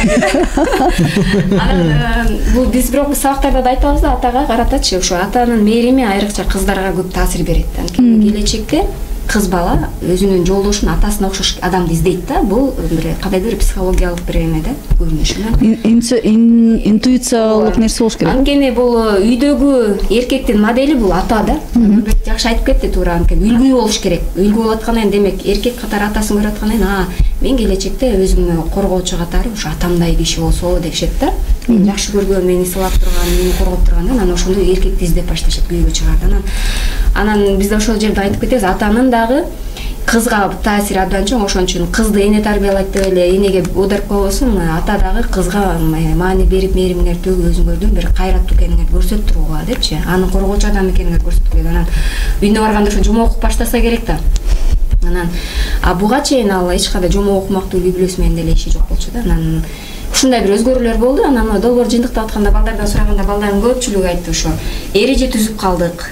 C: Анан бул биз бирок сабактарда да айтабыз да, атага каратачы, ошо атанын мээрими айрыкча кыздарга көп таасир берет. Анткени келечекте кыз бала өзүнүн жолдошун атасына окшош адамды издейт да. Бул бир кандайдыр психологиялык бир эме да, көрүнүш. Интуициялык нерсе болуш керек. Анткени бул үйдөгү эркектин модели бул ата да. Жакшы айтып кетти туура, анткени үлгү болуш керек. Үлгү болуп аткандан кийин демек эркек катары атасын көрүп аткандан кийин, мен келечекте өзүмдү коргоочу катары ушу атамдай киши болсо дешет да. Мен жакшы көргөн, мени сылап турган, мени коргоп турган, анан ошондой эркекти издеп башташат, күйгө чыгарды. Анан биз да ошол жерде айтып кетебиз, атанын дагы кызга таасири абдан чоң. Ошон үчүн кызды эне тарбиялайт деп эле энеге оодарып койбосун, ата дагы кызга маани берип, мээримдер төгүп, өзүңөрдүн бир кайраттуу экениңерди көрсөтүп турууга депчи, аны коргоочу адам экениңерди көрсөтүп келет. Анан үйүнө барганда ошо жомок окуп баштаса керек да. Анан буга чейин ал эч кандай жомок окумактуу библиос менен деле иши жок болчу да. Анан ушундай бир өзгөрүүлөр болду. Анан долбоор жыйынтыктап атканда балдардан сураганда балдардын көпчүлүгү айтты, ошо эреже түзүп калдык.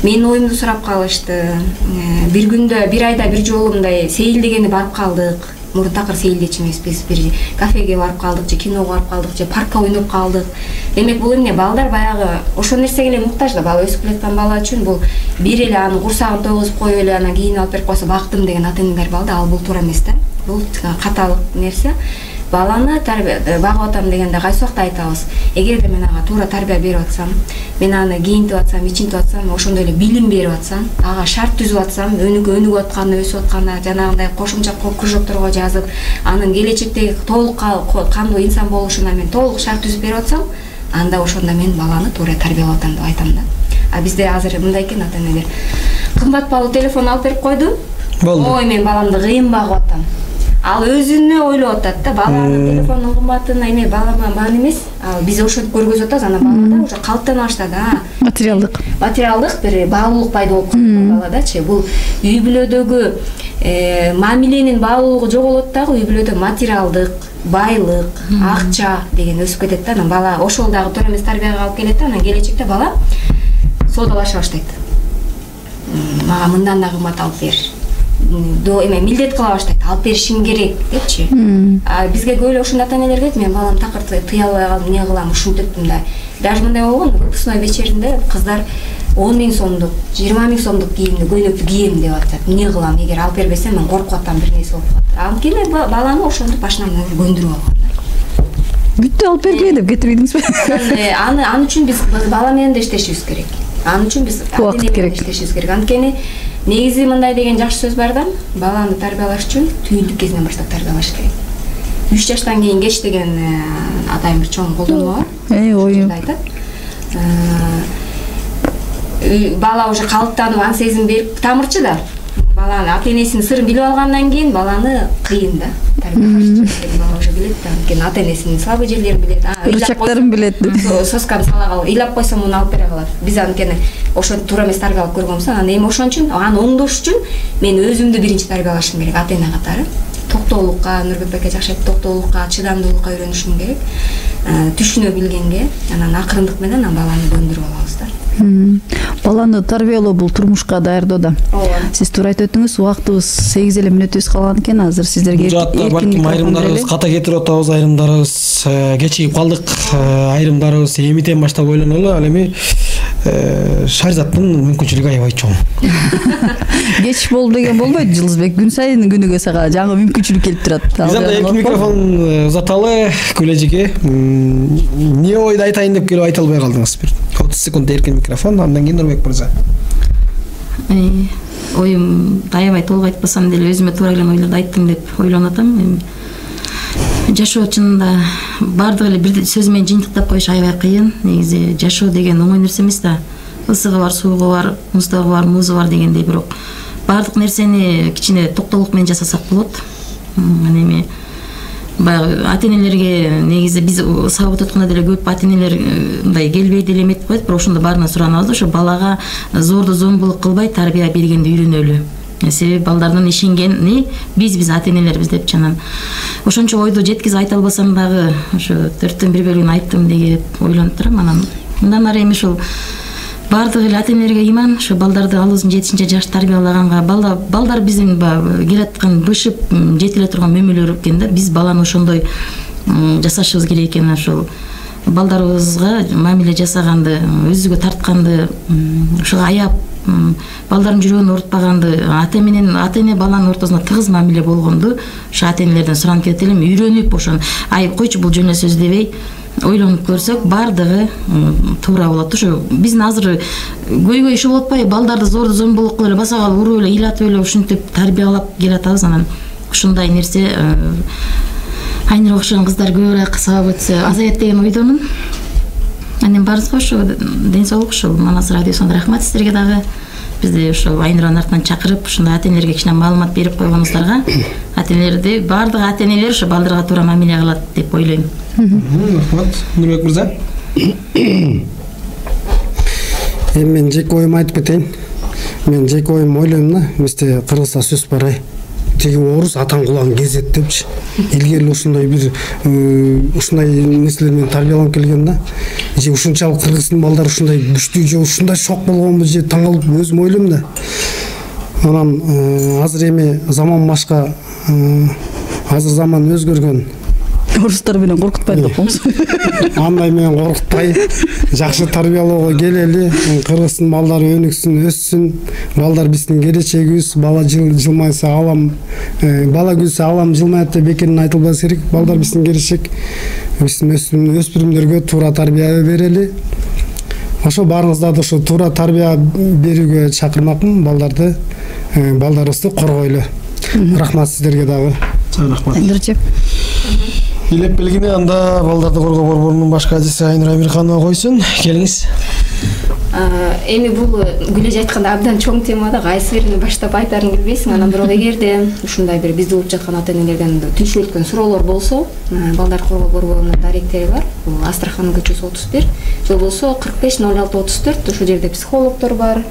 C: Менин оюмду сурап калышты. Бир күндө, бир айда бир жолу мындай сейилдегени барып калдык. Мурун такыр сейилдечи эмес, биз бир кафеге барып калдык, же киного барып калдык, же паркка ойноп калдык. Демек бул эмне? Балдар баягы ошол нерсеге эле муктаж да. Бала өсүп келаткан бала үчүн бул бир эле анын курсагын тойгузуп коюп эле анан кийин алып берип койсо бактым деген ата-энелер балда. Ал бул туура эмес да. Бул каталык нерсе. Баланы багып атам дегенде кайсы убакта айтабыз. Эгерде мен ага туура тарбия берип атсам, мен аны кийинтип атсам, ичинтип атсам, ошондой эле билим берип атсам, ага шарт түзүп атсам, өнүгүп атканы, өсүп атканы, жанагындай кошумча кружокторго жазып, анын келечектеги толук кандуу инсан болушуна мен толук шарт түзүп берип атсам, анда ошондо мен баланы туура тарбиялап атам деп айтам да. А бизде азыр мындай экен ата-энелер. Кымбат баалуу телефон алып берип койду. Ой, мен баламды кыйын багып атам. Ал өзүнө ойлоп атат да, баланын телефонун кымбатына эме балама маани эмес. Ал биз ошентип көргөзүп атабыз, анан балада уже калыптана баштады. Материалдык бир баалуулук пайда болуп калды баладачы. Бул үй бүлөдөгү мамиленин баалуулугу жоголот дагы, үй бүлөдө материалдык, байлык, акча деген өсүп кетет да. Анан бала ошол дагы туура эмес тарбияга алып келет да. Анан келечекте бала соодалаша баштайт. Мага мындан да кымбат алып бер. Эме милдет кыла баштайт, алып беришиң керек депчи. Бизге көп эле ошондой ата-энелер келет, мен балам такыр тыя албай калдым, эмне кылам, ушинтиптим да. Даже мындай болгон, выпускной вечеринде кыздар 10 000 сомдук, 20 000 сомдук кийимди, көйнөктү кийем деп атат. Эмне кылам, эгер алып бербесем мен коркуп атам, бир нерсе болуп калат. Анткени баланы ошентип башынан көндүрүп алган да.
A: Бүттү алып бергиле деп кетип ийдиңизби?
C: Аны үчүн биз бала менен да иштешибиз керек. Аны үчүн биз ата-эне менен иштешибиз керек. Анткени негизи мындай деген жакшы сөз бар да, баланы тарбиялаш үчүн түйүндүк кезинен баштап тарбиялаш керек. 3 жаштан кийин кеч деген атайын бир чоң колдонмо бар.
A: Оюм
C: айтат. Бала уже калыптанып ан сезим берип тамырчы да. Баланы ата-энесинин сырын билип алгандан кийин баланы кыйын да. Бала уже билет да. Анткени ата-энесинин слабый жерлерин билет.
A: Рычактарын билет.
C: Сосканы сала калып, ыйлап койсом муну алып бере калат. Биз анткени ошо туура эмес тарбия алып көргөнбүз. Анан эми ошон үчүн аны оңдош үчүн мен өзүмдү биринчи тарбиялашым керек ата-эне катары. Токтоолукка, Нурбек байке жакшы айтты, токтоолукка, чыдамдуулукка үйрөнүшүм керек. Түшүнө билгенге, анан акырындык менен баланы көндүрүп алабыз да.
A: Баланы тарбиялоо бул турмушка даярдоо да. Сиз туура айтып өттүңүз, убактыбыз 8 эле мүнөтүбүз калган экен. Азыр сиздерге
B: балким айрымдарыбыз ката кетирип атабыз, айрымдарыбыз кечигип калдык, айрымдарыбыз эмитен баштап ойлонолу. Ал эми Шаризаттын мүмкүнчүлүгү аябай чоң.
A: Кеч болду деген болбойт, Жылызбек. Күн сайын күнүгө сага жаңы мүмкүнчүлүк келип турат.
B: Биз анда эркин микрофон узаталы. Күлэжиге эмне ойду айтайын деп келип айта албай калдыңыз? Бир 30 секунд эркин микрофон, андан кийин Нурбек мырза.
D: Оюм аябай толук айтпасам деле өзүмө туура келген ойлорду айттым деп ойлонуп атам. Жашоо чынында бардыгы эле бир сөз менен жыйынтыктап коюш аябай кыйын. Негизи жашоо деген оңой нерсе эмес да. Ысыгы бар, суугу бар, муздагы бар, музу бар дегендей, бирок бардык нерсени кичине токтоолук менен жасасак болот. Анан эми баягы ата-энелерге негизи биз сабак өткөндө деле көп ата-энелер мындай келбей деле эметип коет, бирок ошондо баарынан суранабыз, ошо балага зорду зомбулук кылбай тарбия бергенди үйрөнөлү. Себеби балдардын ишенгени биз ата-энелербиз деп чанан. Ошончо ойду жеткизе айта албасам дагы ошо 4төн 1 бөлүгүн айттым деп ойлонуп турам. Анан мындан ары эми ушул бардык эле ата-энелерге иман, ошо балдарды алыбыздын жетишинче жаш тарбиялаганга, балдар биздин келаткан бышып жетиле турган мөмөлөр экен да. Биз баланы ошондой жасашыбыз керек экен. Ошол балдарыбызга мамиле жасаганды, өзүгө тартканды, ошого аяп балдардын жүрөгүн оорутпаганды, ата-эне баланын ортосунда тыгыз мамиле болгонду ошо ата-энелерден суранып кетет элем. Үйрөнүп ошон койчу бул жөн эле сөз дебей ойлонуп көрсөк бардыгы туура болот. Ошо биздин азыр көйгөй иши болуп атпайбы? Балдарды зорду зомбулук кылып эле баса калып уруп эле ыйлатып эле ушинтип тарбиялап келатабыз. Анан ушундай нерсе Айнура окшогон кыздар көбүрөөк сабап өтсө азаят деген ойдомун. Анан баарыбызга ошо ден соолук, ушул Манас радиосуна рахмат сиздерге дагы. Бизди ошо Айнуранын артынан чакырып, ушундай ата-энелерге кичине маалымат берип койгонуңуздарга, ата-энелерди бардык ата-энелер ошо балдарга туура мамиле кылат деп ойлойм.
B: Рахмат. Нурбек мырза.
E: Эми мен жеке оюмду айтып кетейин. Мен жеке оюм ойлойм да, бизде Кыргызда сөз бар. Теги орус атаң кулагын кезет депчи. Илгери ушундай бир ушундай нерселер менен тарбияланып келген да. Же ушунчалык кыргыздын балдары ушундай күчтүү же ушундай шок болгонбу же таң калып өзүм ойлойм да. Анан азыр эми заман башка, азыр заман өзгөргөн.
A: Орустар менен коркутпай коебуз.
E: Андай менен коркутпай, жакшы тарбиялоого келели, кыргыздын балдары өнүксүн, өссүн. Балдар биздин келечегибиз, бала жылмайса алам, бала күлсө алам жылмайт деп бекерден айтылбас керек. Балдар биздин келечек. Биздин өспүрүмдөргө туура тарбия берели. Ошо баарыңызды да ошо туура тарбия берүүгө чакырмакмын, балдарыбызды коргойлу. Рахмат сиздерге дагы.
B: Рахмат. Билеп келгине анда балдарды коргоо борборунун баш кадиси Айнура Амирханова койсун. Келиңиз.
C: Эми бул Гүлеж айтканда абдан чоң тема да, кайсы биrini баштап айтарын билбейсиң. Анан бирок эгерде ушундай бир бизди угуп жаткан ата-энелерден түшүп өткөн суроолор болсо, балдарды коргоо борборунун даректери бар. Бул Астрахань көчөсү 31. Же болбосо 450634. Ошол жерде психологдор бар,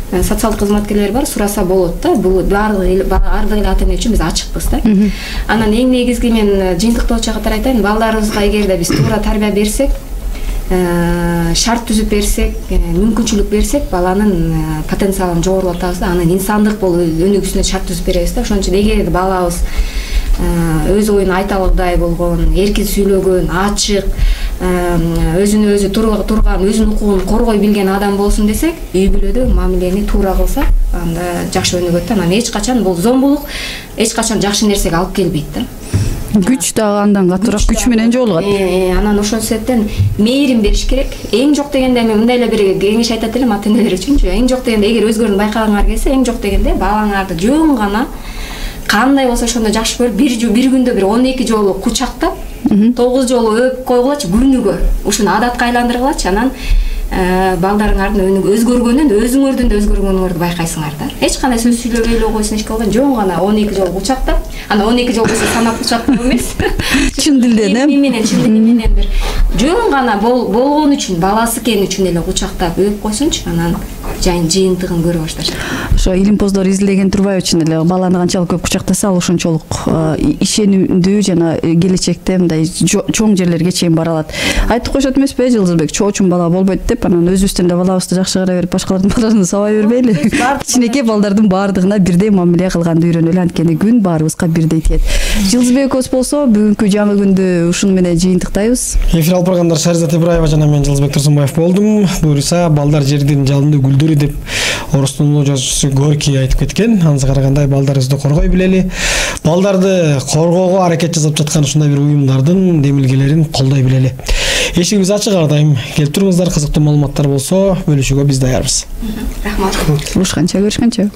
C: социалдык кызматкерлер бар, сураса болот да. Бул ар дайым ата-эне үчүн биз ачыкпыз да. Анан эң негизги мен жыйынтыктоочу катары айтайын, балдарыбызга эгерде биз туура тарбия берсек, шарт түзүп берсек, мүмкүнчүлүк берсек, баланын потенциалын жогорулатабыз да. Анын инсандык болуп өнүгүүсүнө шарт түзүп беребиз да. Ошон үчүн эгер балабыз өз оюн айта алгандай болгон, эркин сүйлөгөн, ачык, өзүнө өзү турган, өзүнүн укугун коргой билген адам болсун десек, үй бүлөдө мамилени туура кылсак, анда жакшы өнүгөт да. Анан эч качан бул зомбулук эч качан жакшы нерсеге алып келбейт да.
A: Күч дагы андан катуураак күч менен жолугат.
C: Анан ошол себептен мээрим бериш керек. Эң жок дегенде мен мындай эле бир кеңеш айтат элем ата-энелер үчүнчү. Эң жок дегенде эгер өзгөрүүнү байкаганыңар келсе, эң жок дегенде балаңарды жөн гана кандай болсо ошондо жакшы көрүп бир күндө бир 12 жолу кучактап 9 жолу өпүп койгулачы күнүгө ушуну адатка айландыргылачы. Анан балдарыңардын өзгөргөнүн өзүңөрдүн да өзгөргөнүңөрдү байкайсыңар да. Эч кандай сөз сүйлөбөй эле койсун, эч кылган жөн гана 12 жолу кучактап, ана 12 жол болсо санап кучактоо эмес.
A: Чын дилден
C: чын дили менен бир жөн гана болгон үчүн, баласы экени үчүн эле кучактап өпүп койсунчу. Анан жыйынтыгын көрө башташат.
A: Ошо илимпоздор изилеген турбай үчүн эле баланы канчалык көп кучактаса, ал ошончолук ишенимдүү жана келечекте мындай чоң жерлерге чейин бара алат. Айтып коюшат эмеспи, Жылдызбек, чоочун бала болбойт деп, анан өзүбүздүн да балабызды жакшы карай берип, башкалардын баласын сабай бербейли. Кичинекей балдардын баардыгына бирдей мамиле кылганды үйрөнөлү, анткени күн баарыбызга бирдей тиет. Жылдызбек экөөбүз болсо, бүгүнкү жаңы күндү ушуну менен жыйынтыктайбыз.
B: Эфир алып баргандар Шаризат Ибраева жана мен Жылдызбек Турсунбаев болдум. Буюрса, балдар жердин жалындуу гүлдөрү деп орустун улуу жазуучусу Горький айтып кеткен. Анысы карагандай балдарыбызды коргой билели. Балдарды коргоого аракет жасап жаткан ушундай бир уюмдардын демилгелерин колдой билели. Эшигибиз ачык ар дайым. Келип туруңуздар, кызыктуу маалыматтар болсо бөлүшүүгө биз даярбыз.
C: Рахмат.
A: Көрүшкөнчө.